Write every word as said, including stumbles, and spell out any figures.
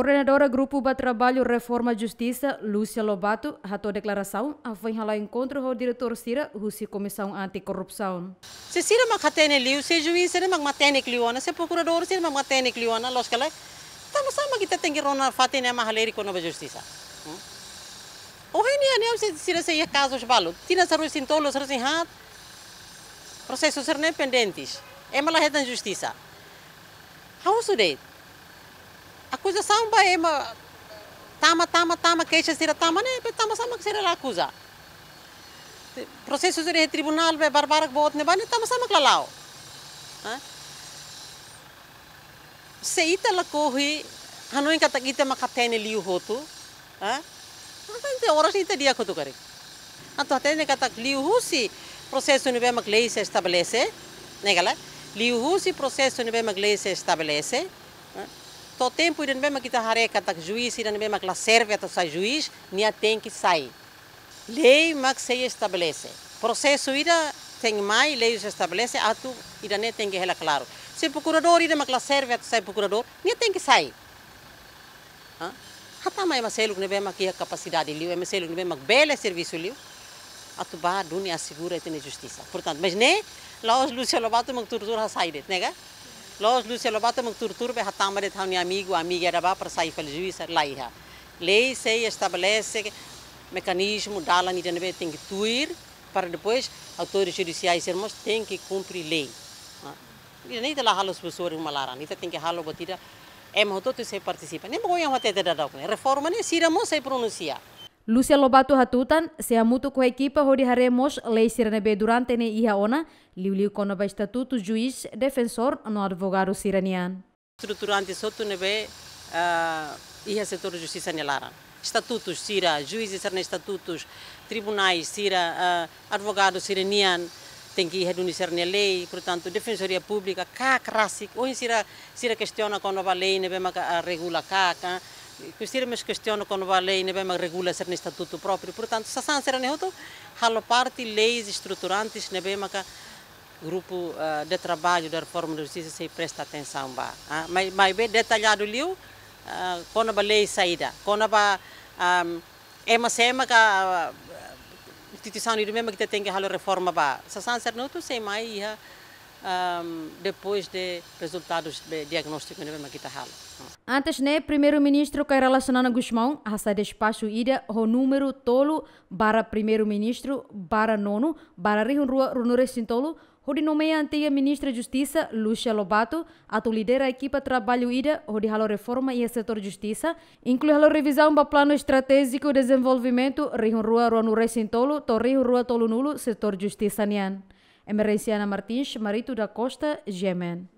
Koordenadora Grupu ba Traballu Reforma Justisa, Lúcia Lobato, hato'o deklarasaun hafoin hala'o enkontru ho diretór sira husi Komisaun Anti-Korrupsaun. Se sira mak hatene liu, se juís sira mak matenek liu ona, se prokuradór sira mak matenek liu ona, loos ka lae? Tanba sá mak ita tenke rona fatin ne'e mak halerik kona-ba justisa? Hmm? Ohin ne'e, ne'e se sira sei iha kazus balu. Tinan sanulu-resin-tolu, sanulu-resin-haat, prosesu sira-ne'e pendentes. Ema la hetan justisa. Ha'u husu de'it. Akuzasaun ba ema tama, tama, tama, keixa sira tama ne'e, be tanba sá mak sira la akuza? Prosesu sira iha tribunál be barbarak boot ne'ebá ne'e tanba sá mak la la'o? Hã? Se ita lakohi hanoin katak ita mak hatene liu hotu, hã? Entaun oras ita di'ak hotu karik. Atu hatene katak liuhusi prosesu ne'ebé mak lei sei estabelese, ne'e ka lae? Liuhusi prosesu ne'ebé mak lei sei estabelese, hã? To'o tempu ida ne'ebé mak ita haree katak juís ida ne'ebé mak la serve atu sai juís, nia tenke sai. Lei mak sei estabelese. Prosesu ida tenke mai, lei sei estabelese, atu ida-ne'e tenke hela klaru. Se prokuradór ida mak la serve atu sai prokuradór, nia tenke sai. Hã? Hatama ema seluk ne'ebé mak iha kapasidade liu, ema seluk ne'ebé mak bele servisu liu, atu bá duni asegura ita-nia justisa. Portantu, mas ne'e, la'ós Lúcia Lobato mak tuur-tuur hasai de'it, ne'e ka? La'ós Lúcia Lobato mak tuur-tuur be hatama de'it ha'u-nia amigu, amiga ida bá para sai fali juís, la iha. Lei sei estabelese mekanizmu, dalan ida ne'ebé tenke tuir, para depois autores judisiais sira mós tenke kumpre lei. Ah, ida-ne'e ita la halo subursuri uma laran, ita tenke halo buat ida ema hotu-hotu sei partisipa. Ne'e mak ohin ha'u hatete dadauk ne'e. Reforma ne'e sira mós sei pronunsia. Lúcia Lobato hatutan, sei hamutuk ho ekipa hodi haree mós lei sira ne'ebé durante ne'e iha ona, liuliu kona-ba estatutu juís, defensór no advogadu sira-nian. Estruturante hotu ne'ebé, ah, iha setór justisa nia laran. Estatutus sira, juízes sira-nia estatutus, tribunais sira, ah, advogadu sira-nian, tenke iha duni sira-nia lei, portantu, Defensoria Públika, KAK rasik, ohin sira, sira kestiona kona-ba lei ne'ebé maka, ah, regula KAK, ah, sira mós kestiona kona-ba lei ne'ebé maka regula sira-nia estatutu própriu. Portantu, sasán sira-ne'e hotu halo parte leis estruturantes ne'ebé maka grupu, ah, de trabalho da reforma da justiça sei presta atensaun ba. Ah, mai, maibé detalladu liu, ah, kona-ba lei saida, kona-ba, ah, ema sé mak, ah, instituisaun ida ne'ebé mak ita tenke halo reforma ba. Sasán sira-ne'e hotu sei mai iha, ah, depois de rezultadus de diagnóstiku ne'ebé mak ita halo. Antes ne'e, Primeiru-Ministru Kay Rala Xanana Gusmão hasai despaxu ida ho númeru tolu barra Primeiru-Ministru barra nonu barra rihun rua ruanulu-resin-tolu, hodi nomeia antiga Ministra Justisa, Lúcia Lobato, atu lidera ekipa traballu ida hodi halo reforma iha setór justisa, inklui halo revizaun ba Planu Estratéjiku Dezenvolvimentu rihun rua ruanulu-resin-tolu to'o rihun rua tolunulu setór justisa nian. Emerenciana Martins, Marito da Costa, G M N.